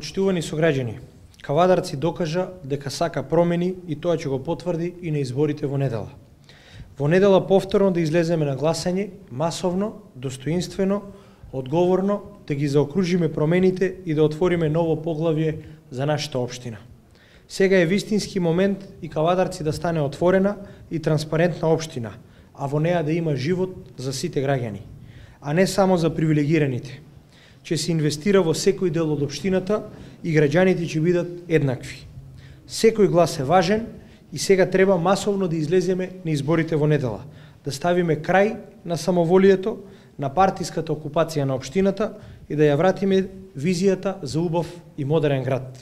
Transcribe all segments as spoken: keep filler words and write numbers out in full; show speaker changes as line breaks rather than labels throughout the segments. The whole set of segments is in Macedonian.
Почитувани сограѓани, Кавадарци докажа дека сака промени и тоа ќе го потврди и на изборите во недела. Во недела повторно да излеземе на гласање, масовно, достоинствено, одговорно, да ги заокружиме промените и да отвориме ново поглавје за нашата општина. Сега е вистински момент и Кавадарци да стане отворена и транспарентна општина, а во неа да има живот за сите граѓани, а не само за привилегираните. Ќе се инвестира во секој дел од општината и граѓаните ќе бидат еднакви. Секој глас е важен и сега треба масовно да излеземе на изборите во недела, да ставиме крај на самоволието, на партиската окупација на општината и да ја вратиме визијата за убав и модерен град.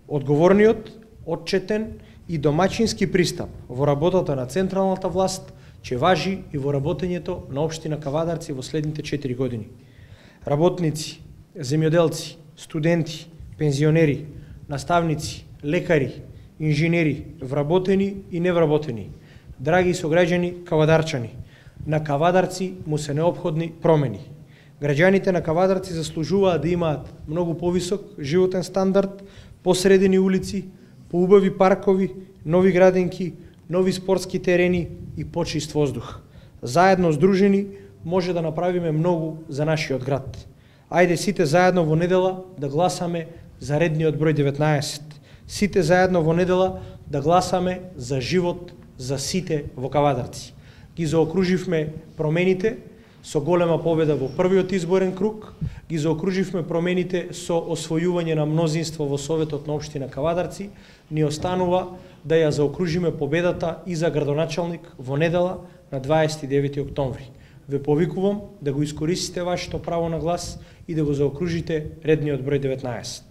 Одговорниот, отчетен и домаќински пристап во работата на централната власт ќе важи и во работењето на општина Кавадарци во следните четири години. Работници, земјоделци, студенти, пензионери, наставници, лекари, инженери, вработени и невработени, драги сограѓани кавадарчани, на Кавадарци му се неопходни промени. Граѓаните на Кавадарци заслужуваат да имаат многу повисок животен стандард, посредени улици, поубави паркови, нови градинки, нови спортски терени и почист воздух. Заедно здружени може да направиме многу за нашиот град. Ајде сите заедно во недела да гласаме за редниот број деветнаесет. Сите заедно во недела да гласаме за живот за сите во Кавадарци. Ги заокруживме промените со голема победа во првиот изборен круг, ги заокруживме промените со освојување на мнозинство во Советот на општина Кавадарци, ни останува да ја заокружиме победата и за градоначалник во недела на дваесет и девети октомври. Ве повикувам да го искористите вашето право на глас и да го заокружите редниот број деветнаесет.